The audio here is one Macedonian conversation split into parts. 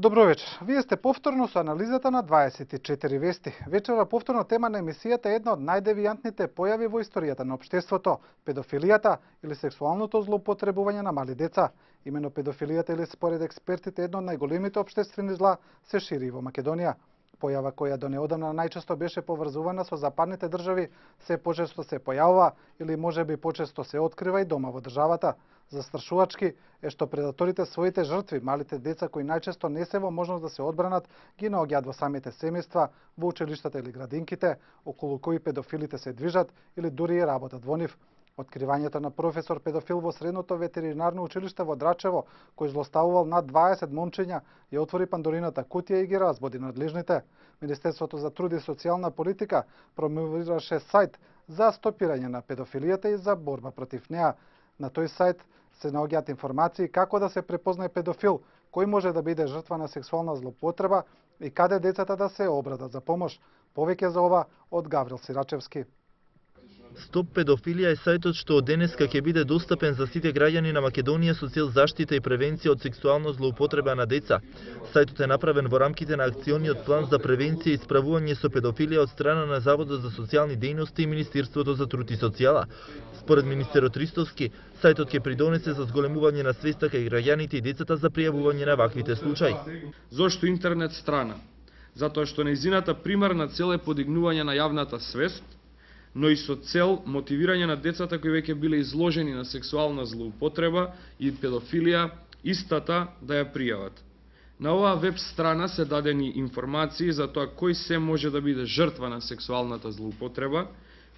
Добро вечер. Вие сте повторно со анализата на 24 вести. Вечера повторно тема на емисијата е една од најдевијантните појави во историјата на општеството – педофилијата или сексуалното злоупотребување на мали деца. Имено педофилијата или според експертите едно од најголемите општествени зла се шири во Македонија. Појава која до неодамна најчесто беше поврзувана со западните држави, се почесто се појавува или можеби почесто се открива и дома во државата. Застрашувачки е што предаторите своите жртви, малите деца кои најчесто не се во можност да се одбранат, ги наоѓаат во самите семејства, во училиштата или градинките, околу кои педофилите се движат или дури и работат во нив. Откривањето на професор педофил во средното ветеринарно училиште во Драчево, кој злоставувал над 20 момчиња, ја отвори Пандорината кутија и ги разбуди надлежните. Министерството за труд и социјална политика промовираше сајт за стопирање на педофилијата и за борба против неа. На тој сајт се наоѓаат информации како да се препознае педофил, кој може да биде жртва на сексуална злоупотреба и каде децата да се обратат за помош. Повеќе за ова од Гаврил Сирачевски. Стоп педофилија е сајтот што од денеска ќе биде достапен за сите граѓани на Македонија со цел заштита и превенција од сексуална злоупотреба на деца. Сајтот е направен во рамките на акциониот план за превенција и справување со педофилија од страна на Заводот за социјални дејности и Министерството за труд и социјала. Според министерот Ристовски, сајтот ќе придонесе за зголемување на свеста кај граѓаните и децата за пријавување на ваквите случаи. Зошто интернет страна? Затоа што нејзината примарна цел е подигнување на јавната свест, но и со цел мотивирање на децата кои веќе биле изложени на сексуална злоупотреба и педофилија, истата да ја пријават. На оваа веб страна се дадени информации за тоа кој се може да биде жртва на сексуалната злоупотреба,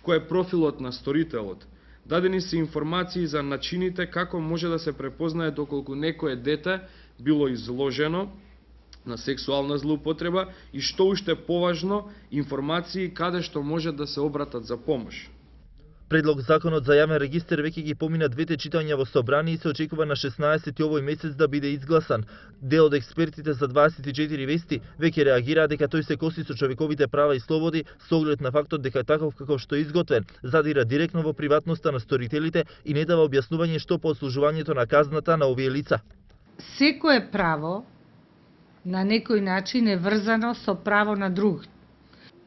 кој е профилот на сторителот. Дадени се информации за начините како може да се препознае доколку некое дете било изложено на сексуална злоупотреба и што уште поважно, информации каде што може да се обратат за помош. Предлог законот за јавен регистер веќе ги помина двете читања во собрание и се очекува на 16 овој месец да биде изгласан. Дел од експертите за 24 вести веќе реагира дека тој се коси со човековите права и слободи со оглед на фактот дека таков каков што е изготвен задира директно во приватноста на сторителите и не дава објаснување што по одслужувањето на казната на овие лица. Секое право на некој начин е врзано со право на друг.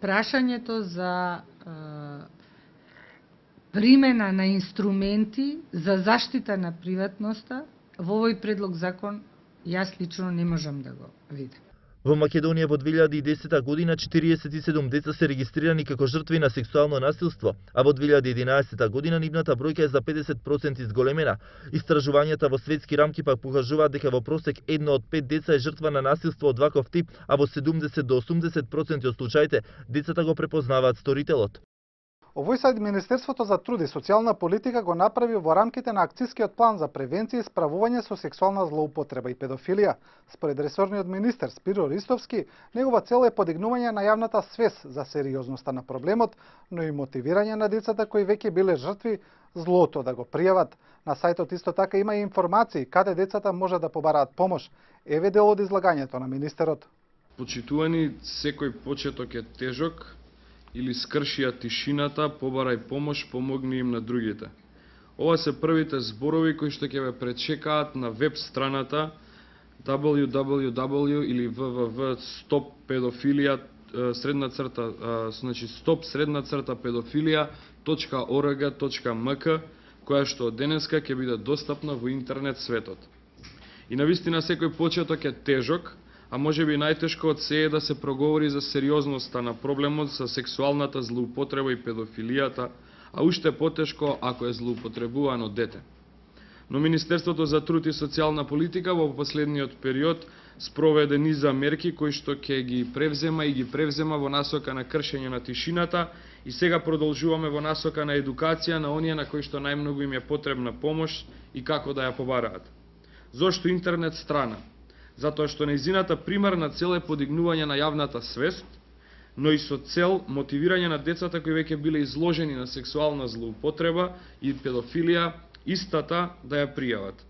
Прашањето за примена на инструменти за заштита на приватноста во овој предлог закон јас лично не можам да го видам. Во Македонија во 2010 година 47 деца се регистрирани како жртви на сексуално насилство, а во 2011 година нивната бројка е за 50% изголемена. Истражувањата во светски рамки пак покажуваат дека во просек 1 од 5 деца е жртва на насилство од ваков тип, а во 70 до 80% од случаите децата го препознаваат сторителот. Овој сајт Министерството за труд и социјална политика го направи во рамките на акцијскиот план за превенција и справување со сексуална злоупотреба и педофилија. Според ресорниот министер Спиро Ристовски, негова цел е подигнување на јавната свест за сериозноста на проблемот, но и мотивирање на децата кои веќе биле жртви злото да го пријават. На сајтот исто така има и информации каде децата може да побараат помош. Еве дел од излагањето на министерот. Почитувани, секој почеток е тежок, или скршија тишината, побарај помош, помогни им на другите. Ова се првите зборови кои што ќе ве пречекаат на веб страната www или www.stoppedophilia stop-pedophilia.org.mk, која што од денеска ќе биде достапна во интернет светот. И навистина секој почеток е тежок, а може би најтешко од се е да се проговори за сериозноста на проблемот со сексуалната злоупотреба и педофилијата, а уште потешко ако е злоупотребувано дете. Но Министерството за труд и социјална политика во последниот период спроведе низа мерки кои што ќе ги превзема во насока на кршење на тишината и сега продолжуваме во насока на едукација на оние на кои што најмногу им е потребна помош и како да ја побараат. Зошто интернет страна? Затоа што нејзината примарна цел е подигнување на јавната свест, но и со цел мотивирање на децата кои веќе биле изложени на сексуална злоупотреба и педофилија, истата да ја пријават.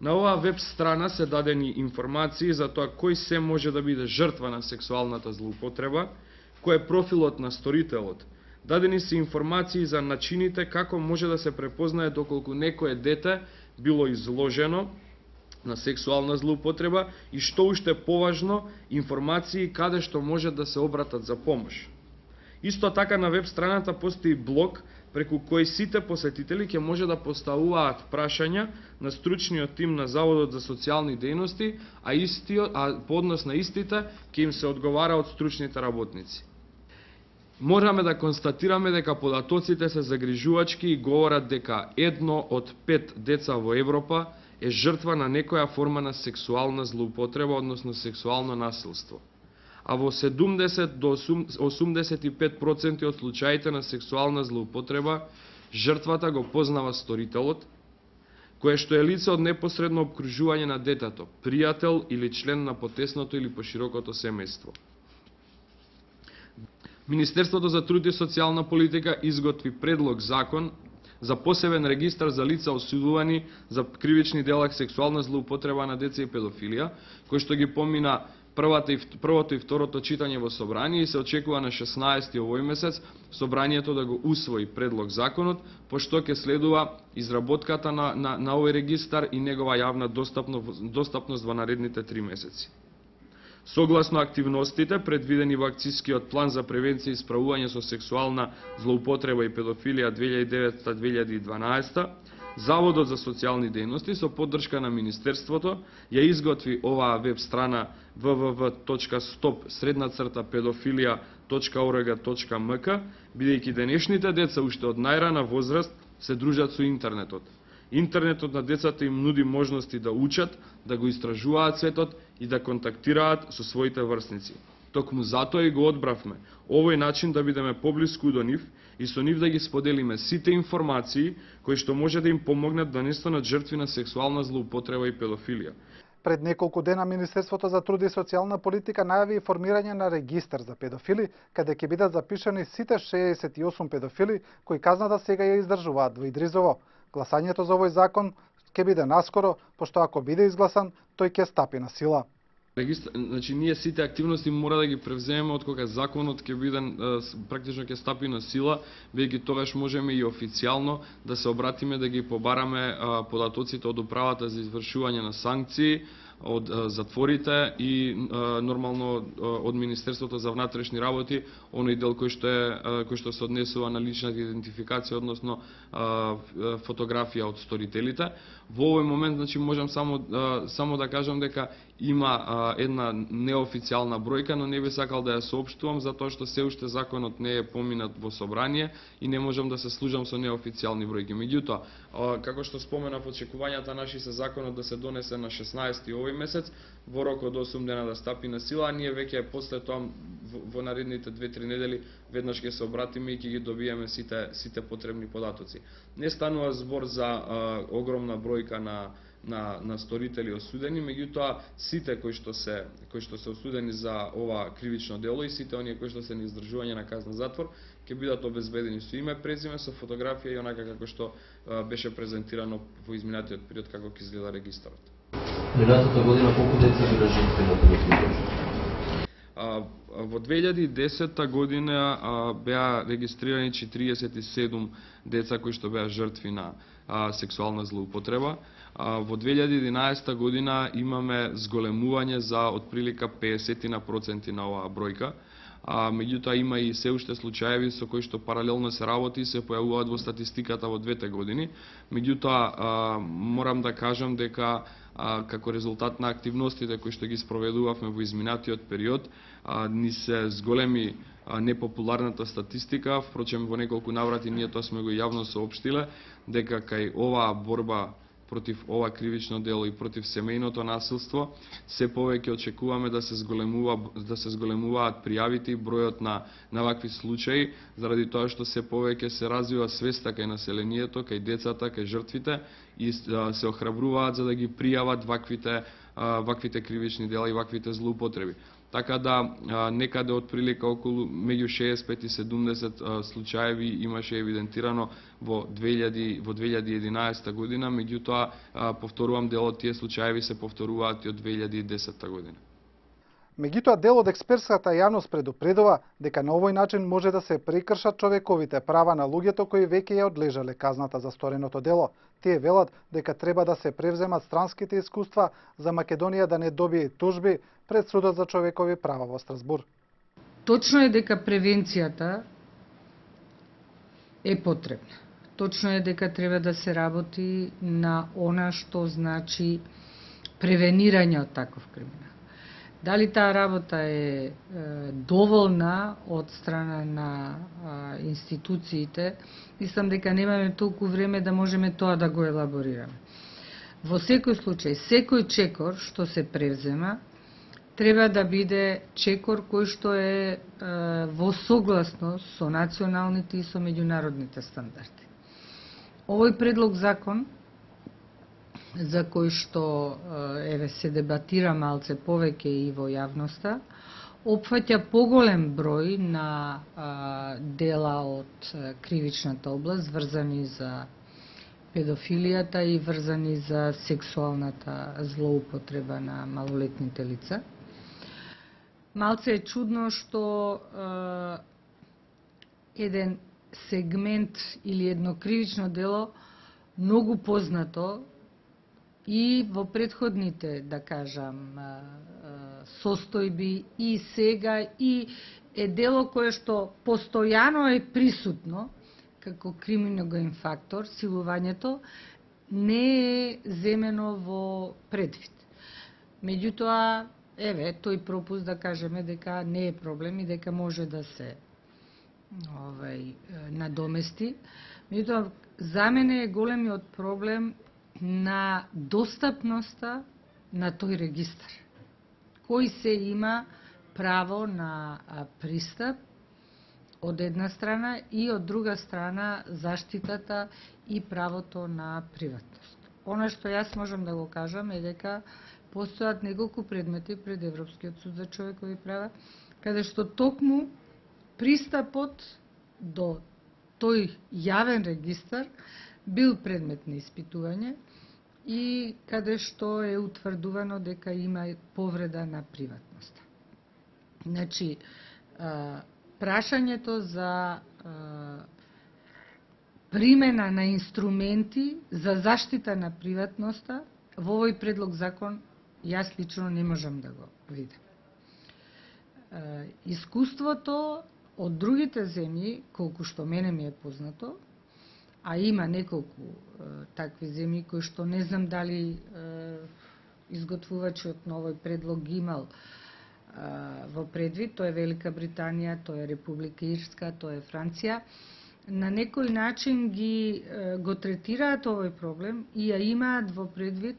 На оваа веб страна се дадени информации за тоа кој се може да биде жртва на сексуалната злоупотреба, кој е профилот на сторителот. Дадени се информации за начините како може да се препознае доколку некое дете било изложено на сексуална злоупотреба и што уште поважно, информации каде што можат да се обратат за помош. Исто така на веб страната постои блог преку кој сите посетители ќе може да поставуваат прашања на стручниот тим на Заводот за социјални дејности, а по однос на истите ќе им се одговара од стручните работници. Можеме да констатираме дека податоците се загрижувачки и говорат дека 1 од 5 деца во Европа е жртва на некоја форма на сексуална злоупотреба, односно сексуално насилство. А во 70 до 85% од случаите на сексуална злоупотреба, жртвата го познава сторителот, кое што е лице од непосредно обкружување на детето, пријател или член на потесното или поширокото семејство. Министерството за труд и социјална политика изготви предлог закон за посебен регистар за лица осудувани за кривични дела сексуална злоупотреба на деца и педофилија, кој што ги помина првото и второто читање во собрание и се очекува на 16 овој месец собранието да го усвои предлог законот, пошто ќе следува изработката на овој регистар и негова јавна достапност во наредните 3 месеци. Согласно активностите предвидени во акцискиот план за превенција и справување со сексуална злоупотреба и педофилија 2009-2012, Заводот за социјални дејности со поддршка на Министерството ја изготви оваа веб страна www.pedofilija.org.mk, бидејќи денешните деца уште од најрана возраст се дружат со интернетот. Интернетот на децата им нуди можности да учат, да го истражуваат светот и да контактираат со своите врсници. Токму затоа и го одбравме овој начин да бидеме поблиску до нив и со нив да ги споделиме сите информации кои што може да им помогнат да не станат жртви на сексуална злоупотреба и педофилија. Пред неколку дена Министерството за труд и социјална политика најави формирање на регистар за педофили, каде ќе бидат запишани сите 68 педофили кои казната сега ја издржуваат во Идризово. Гласањето за овој закон ќе биде наскоро, пошто ако биде изгласан, тој ќе стапи на сила. Значи, ние сите активности мора да ги превземеме од кога законот ќе биде практично ќе стапи на сила, веќе тогаш можеме и официјално да се обратиме да ги побараме податоците од управата за извршување на санкции, од затворите и нормално од Министерството за внатрешни работи, оној дел кој што се однесува на личната идентификација, односно фотографија од сторителите. Во овој момент, значи, можам само да кажам дека има една неофицијална бројка, но не би сакал да ја соопштувам затоа што се уште законот не е поминат во собрание и не можам да се служам со неофицијални бројки. Меѓутоа, како што споменав, очекувањата наши се законот да се донесе на 16 овој месец, во рок од 8 дена да стапи на сила, а ние веќе после тоа во наредните 2-3 недели веднаш ќе се обратиме и ќе ги добиеме сите потребни податоци. Не станува збор за огромна бројка на сторители осудени, меѓутоа сите кои што се осудени за ова кривично дело и сите оние кои што се на издржување на казна затвор ќе бидат обезбедени со име, презиме, со фотографија и онака како што беше презентирано во изминатиот период како ќе изгледа регистарот. Минатата година колку деца биле жртви на педофилија? Во 2010 година беа регистрирани 47 деца кои што беа жртви на сексуална злоупотреба. Во 2011 година имаме зголемување за отприлика 50% на оваа бројка. Меѓутоа има и се уште случаеви со кои што паралелно се работи и се појавуваат во статистиката во двете години. Меѓутоа морам да кажам дека како резултат на активностите кои што ги спроведувавме во изминатиот период, ни се зголеми непопуларната статистика, впрочем во неколку наврати ние тоа сме го јавно соопштиле, дека кај оваа борба против ова кривично дело и против семејното насилство, се повеќе очекуваме да се зголемуваат пријавите и бројот на вакви случаи, заради тоа што се повеќе се развива свеста кај населението, кај децата, кај жртвите и се охрабруваат за да ги пријават ваквите кривични дела и ваквите злоупотреби. Така да некаде од прилика околу меѓу 65 и 70 случаеви имаше евидентирано во 2011 година, меѓутоа повторувам, дел од тие случаеви се повторуваат и од 2010 година. Меѓутоа, дел од експертската јавност предупредува дека на овој начин може да се прекршат човековите права на луѓето кои веќе ја одлежале казната за стореното дело. Тие велат дека треба да се превземат странските искуства за Македонија да не добие тужби пред Судот за човекови права во Страсбур. Точно е дека превенцијата е потребна. Точно е дека треба да се работи на она што значи превенирање од таков криминал. Дали таа работа е доволна од страна на институциите, мислам дека немаме толку време да можеме тоа да го елаборираме. Во секој случај, секој чекор што се превзема, треба да биде чекор кој што е во согласност со националните и со меѓународните стандарди. Овој предлог закон, за кој што еве се дебатира малце повеќе и во јавноста, опфаќа поголем број на дела од кривичната област врзани за педофилијата и врзани за сексуалната злоупотреба на малолетните лица. Малце е чудно што еден сегмент или едно кривично дело многу познато и во претходните, да кажам, состојби и сега и е дело кое што постојано е присутно како криминоген фактор, силувањето не е земено во предвид. Меѓутоа, еве, тој пропуст да кажеме дека не е проблем и дека може да се надомести. Меѓутоа, за мене е големиот проблем на достапноста на тој регистар. Кој се има право на пристап од една страна и од друга страна заштитата и правото на приватност. Она што јас можам да го кажам е дека постојат неколку предмети пред Европскиот суд за човекови права, каде што токму пристапот до тој јавен регистар бил предмет на испитување и каде што е утврдувано дека има повреда на приватноста. Значи, прашањето за примена на инструменти за заштита на приватноста во овој предлог закон јас лично не можам да го видам. Искуството од другите земји, колку што мене ми е познато, а има неколку такви земји кои што не знам дали изготвувачот на овој предлог ги имал во предвид, тоа е Велика Британија, тоа е Република Ирска, тоа е Франција, на некој начин го третираат овој проблем и ја имаат во предвид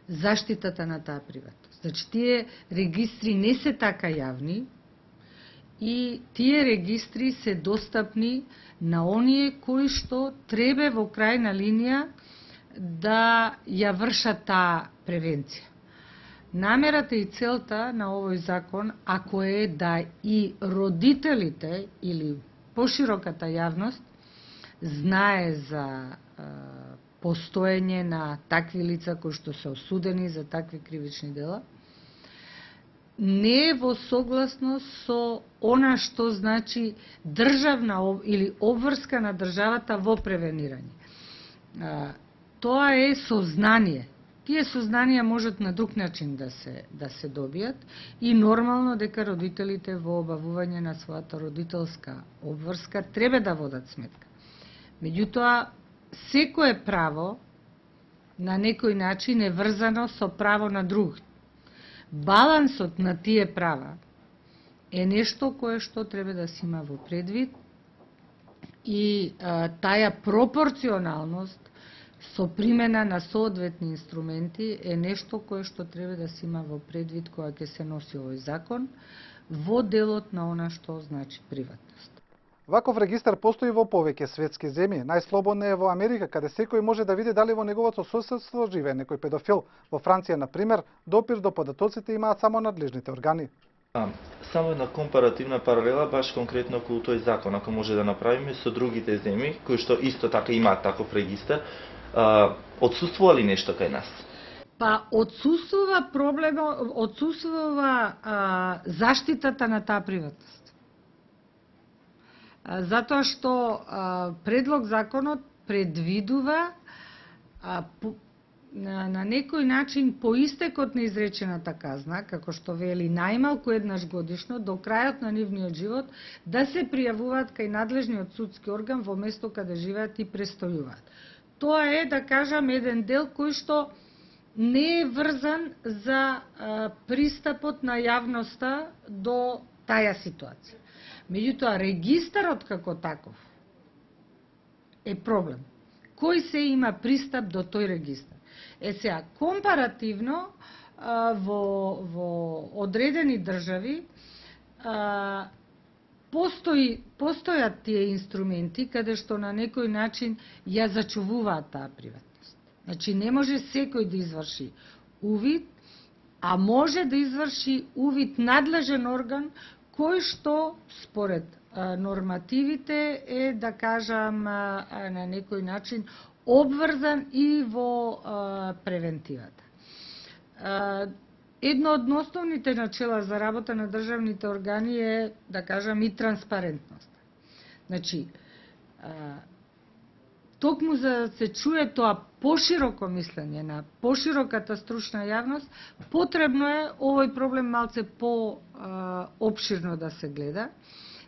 заштитата на таа приватност. Значи, тие регистри не се така јавни и тие регистри се достапни на оние кои што треба во крајна линија да ја вршат таа превенција. Намерата и целта на овој закон, ако е да и родителите или пошироката јавност знае за постоење на такви лица кои што се осудени за такви кривични дела, не е во согласност со она што значи државна или обврска на државата во превенирање. Тоа е сознание. Тие сознанија можат на друг начин да се добијат и нормално дека родителите во обавување на својата родителска обврска треба да водат сметка. Меѓутоа, секое право на некој начин е врзано со право на друг. Балансот на тие права е нешто кое што треба да се има во предвид и таа пропорционалност со примена на соодветни инструменти е нешто кое што треба да се има во предвид кога ќе се носи овој закон во делот на она што значи приватност. Ваков регистар постои во повеќе светски земји. Најслободно е во Америка, каде секој може да види дали во неговото соседство живее некој педофил. Во Франција, на пример, допир до податоците имаат само надлежните органи. Само една компаративна паралела, баш конкретно околу тој закон, ако може да направиме со другите земји, кои што исто така имаат таков регистар, отсуствува ли нешто кај нас? Па отсуствува заштитата на таа приватност. Затоа што предлог законот предвидува на некој начин по истекот на изречената казна, како што вели најмалку еднаш годишно до крајот на нивниот живот, да се пријавуваат кај надлежниот судски орган во место каде живеат и престојуваат. Тоа е, да кажам, еден дел кој што не е врзан за пристапот на јавноста до таја ситуација. Меѓутоа, регистарот како таков е проблем. Кој се има пристап до тој регистар? Сега, компаративно во одредени држави постојат тие инструменти каде што на некој начин ја зачувуваат таа приватност. Значи, не може секој да изврши увид, а може да изврши увид надлежен орган кој што според нормативите е, да кажам, на некој начин обврзан и во превентивата. Едно од основните начела за работа на државните органи е, да кажам, и транспарентност. Значи, токму за да се чуе тоа пошироко мислење на пошироката стручна јавност, потребно е овој проблем малце по-обширно да се гледа,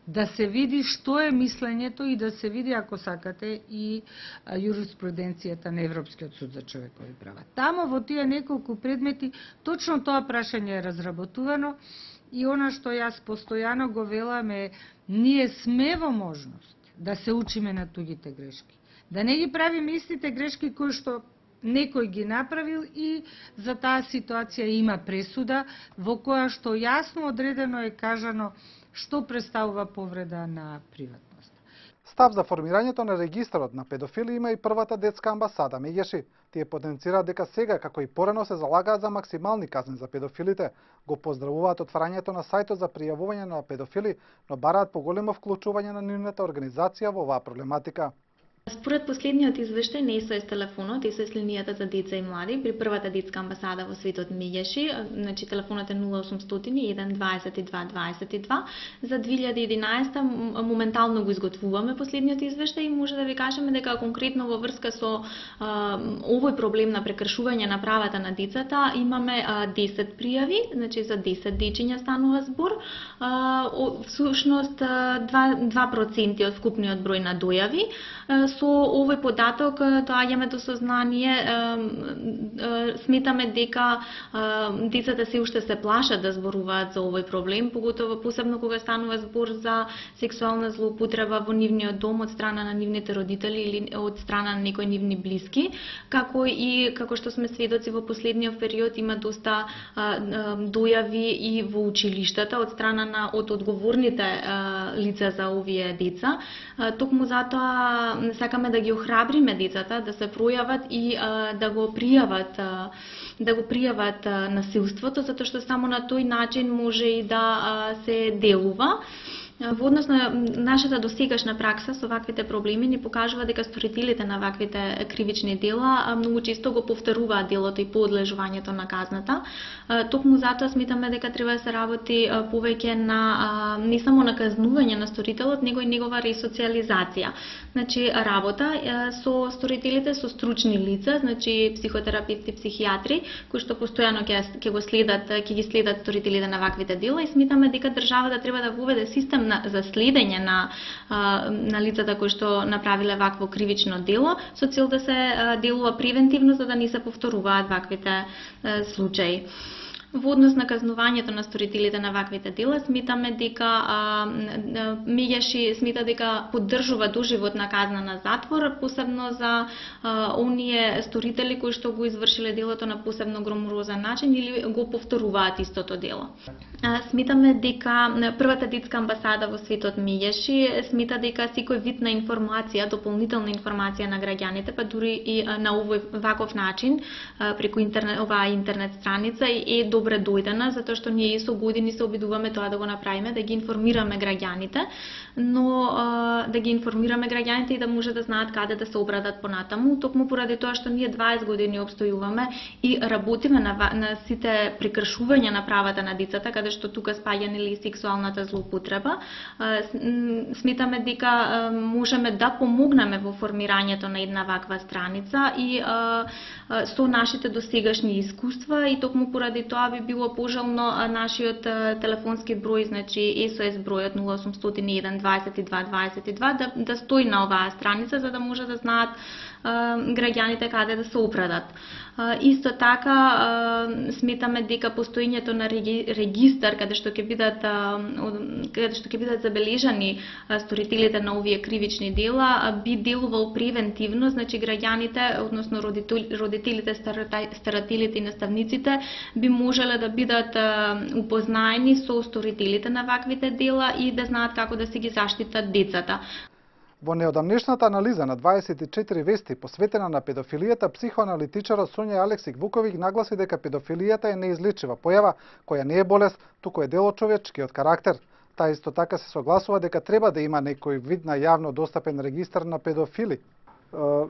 да се види што е мислењето и да се види, ако сакате, и јуриспруденцијата на Европскиот суд за човекови права. Тамо во тие неколку предмети точно тоа прашање е разработувано и она што јас постојано го велам е, ние сме во можност да се учиме на туѓите грешки. Да не ги правиме истите грешки кои што некој ги направил и за таа ситуација има пресуда во која што јасно одредено е кажано што представува повреда на приватност. Став за формирањето на регистарот на педофили има и првата детска амбасада Меѓеши. Тие потенцираат дека сега, како и порано, се залагаат за максимални казни за педофилите. Го поздравуваат отварањето на сајтот за пријавување на педофили, но бараат поголемо вклучување на нивната организација во оваа проблематика. Според последниот извештај на СОС телефонот, СОС линијата за деца и млади при првата детска амбасада во светот Меѓеши, значи телефонот е 0800 1 22 22. За 2011 моментално го изготвуваме последниот извештај и може да ви кажеме дека конкретно во врска со овој проблем на прекршување на правата на децата имаме 10 пријави, значи за 10 дечиња станува збор. Всушност 2% од вкупниот број на дојави. Со овој податок доаѓаме до сознание, сметаме дека децата се уште се плашат да зборуваат за овој проблем, поготово посебно кога станува збор за сексуална злоупотреба во нивниот дом од страна на нивните родители или од страна на некои нивни блиски, како што сме сведоци во последниот период има доста дојави и во училиштата од страна од одговорните лица за овие деца. Токму затоа сакаме да ги охрабриме децата да се пројават и да го пријават насилството, затоа што само на тој начин може и да се делува. Во однос на нашата досегашна пракса со ваквите проблеми ни покажува дека сторителите на ваквите кривични дела многу често го повторуваат делото и подлежувањето на казната. Токму затоа сметаме дека треба да се работи повеќе на не само на казнување на сторителот, него и негова ресоциализација. Значи работа со сторителите, со стручни лица, значи психотерапевти, психијатри, кои што постојано ќе ги следат сторителите на ваквите дела и сметаме дека државата треба да воведе систем за следење на лицата кои што направиле вакво кривично дело, со цел да се делува превентивно за да не се повторуваат ваквите случаи. Во однос на казнувањето на сторителите на ваквите дела, сметаме дека Меѓеши смета дека поддржува доживотна казна на затвор, посебно за оние сторители кои што го извршиле делото на посебно громозен начин или го повторуваат истото дело. Сметаме дека првата детска амбасада во светот Мијеши смета дека секој вид на информација, дополнителна информација на граѓаните, па дури и на ваков начин преку оваа интернет страница е добре дојдена, затоа што ние со години се обидуваме тоа да го направиме, да ги информираме граѓаните, но да ги информираме граѓаните и да може да знаат каде да се обрадат понатаму, токму поради тоа што ние 20 години обстојуваме и работиме на сите прекршувања на правата на децата, каде што тука спаѓа нели сексуалната злоупотреба. Сметаме дека можеме да помогнеме во формирањето на една ваква страница и со нашите досегашни искуства и токму поради тоа би било пожелно нашиот телефонски број, значи SOS бројот 0801 22 22 да стои на оваа страница за да може да знаат граѓаните каде да се опрадат. Исто така сметаме дека постоењето на регистар каде што ќе бидат забележани сторителите на овие кривични дела би делувал превентивно, значи граѓаните, односно родителите, старателите и наставниците би можеле да бидат упознаени со сторителите на ваквите дела и да знаат како да се ги заштитат децата. Во неодамнешната анализа на 24 вести посветена на педофилијата, психоаналитичарот Сонја Алексик Вуковиќ нагласи дека педофилијата е неизлечива појава, која не е болест, туку е дел од човечкиот карактер. Таа исто така се согласува дека треба да има некој вид на јавно достапен регистар на педофили.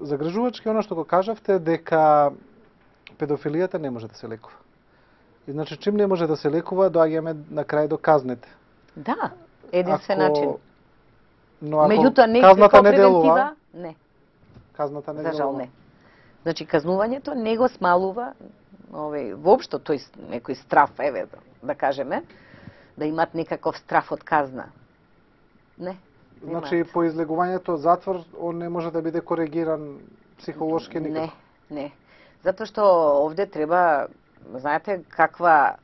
Загрижувачки она што го кажавте дека педофилијата не може да се лекува. И значи чим не може да се лекува, доаѓаме на крај до казните. Да, единствен начин. Но ако меѓутоа не казната не превентива, делува, не. казната не За жал делува. не. Значи казнувањето не го смалува воопшто тој некој страф, еве да кажеме, да имат некаков страф од казна. Не. Значи по излегувањето затвор он не може да биде коригиран психолошки никако. Не. Затоа што овде треба, знаете, каква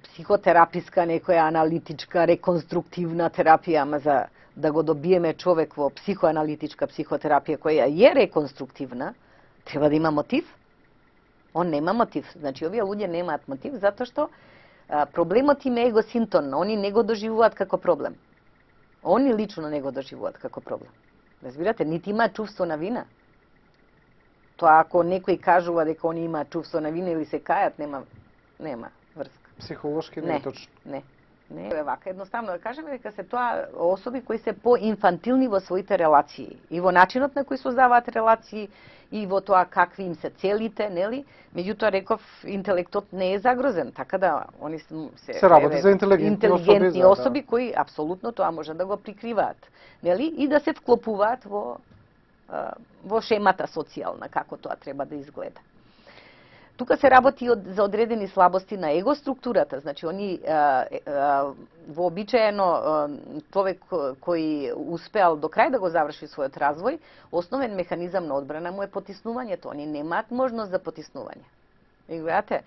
психотераписка, некоја аналитичка, реконструктивна терапија, ама за да го добиеме човек во психоаналитичка психотерапија која е реконструктивна, треба да има мотив. Он нема мотив. Значи, овие луѓе немаат мотив, затоа што проблемот им е егосинтонно. Они не го доживуваат како проблем. Они лично не го доживуваат како проблем. Разбирате, нити имаат чувство на вина. Тоа ако некој кажува дека они имаат чувство на вина или се кајат, нема врска. Психолошки не е точно. Не е вака. Едноставно да кажеме дека се тоа особи кои се поинфантилни во своите релации и во начинот на кој создаваат релации и во тоа какви им се целите, нели? Меѓутоа реков интелектот не е загрозен, така да они се работи за интелигентни особи кои апсолутно тоа може да го прикриваат, нели? И да се вклопуваат во шемата социјална како тоа треба да изгледа. Тука се работи за одредени слабости на его структурата, значи они вообичаено човек кој успеал до крај да го заврши својот развој, основен механизам на одбрана му е потиснувањето. Они немаат можност за потиснување. И гледате,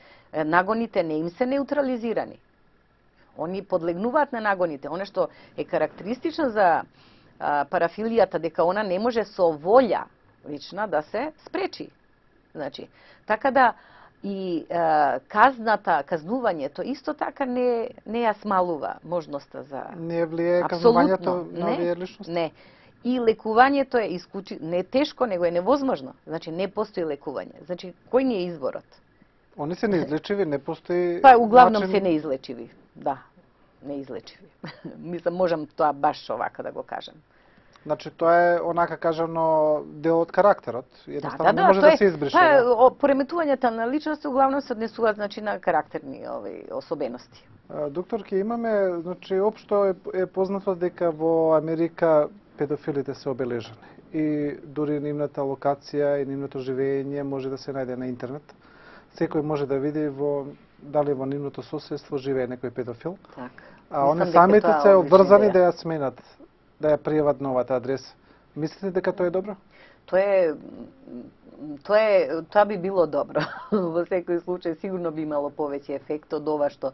нагоните не им се неутрализирани. Они подлегнуваат на нагоните. Оно што е карактеристично за парафилијата, дека она не може со волја лична да се спречи. Значи, така да и казнувањето исто така не ја смалува можноста за... Не влие казнувањето на овие личности? Не. И лекувањето е не тешко, него е невозможно. Значи, не постои лекување. Значи, кој ни е изборот? Они се неизлечиви, не постои... Па, углавном се неизлечиви. Да, неизлечиви. Мислам, можам тоа баш овака да го кажам. Значи, тоа е, онака кажано, дел од карактерот. Едноставно да, не може да се избрише. Па, пореметувањата на личности углавном се однесуваат, значи, на карактерни особености. Докторки, имаме, значи, општо е познато дека во Америка педофилите се обележани. И дури нивната локација и нивното живење може да се најде на интернет. Секој може да види дали во нивното соседство живее некој педофил. Так. А они самите се обврзани да ја сменат, да ја пријават новата адреса. Мислите дека тоа е добро? Тоа би било добро. Во секој случај сигурно би имало повеќе ефект од ова што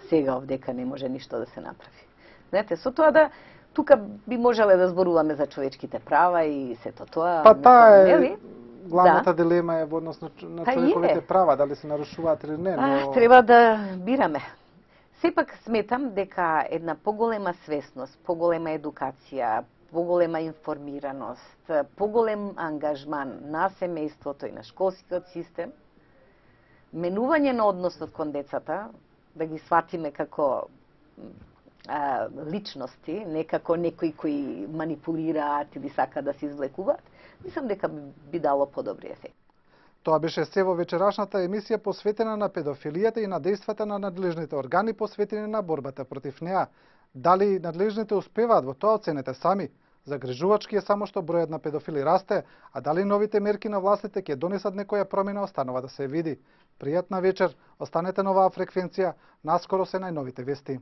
сега овдека не може ништо да се направи. Знаете, со тоа тука би можеле да зборуваме за човечките права и сето тоа. Па таа е главната дилема е во однос на човековите права, дали се нарушуваат или не. Треба да бираме. Сепак сметам дека една поголема свесност, поголема едукација, поголема информираност, поголем ангажман на семејството и на школскиот систем, менување на односот кон децата, да ги сватиме како личности, не како некои кои манипулираат или сакаат да се извлекуваат, мислам дека би дало подобри ефект. Тоа беше се во вечерашната емисија посветена на педофилијата и на дејствата на надлежните органи посветени на борбата против неа. Дали надлежните успеваат во тоа, оценете сами. Загрижувачки е само што бројот на педофили расте, а дали новите мерки на властите ќе донесат некоја промена останува да се види. Пријатна вечер, останете на оваа фреквенција, наскоро се најновите вести.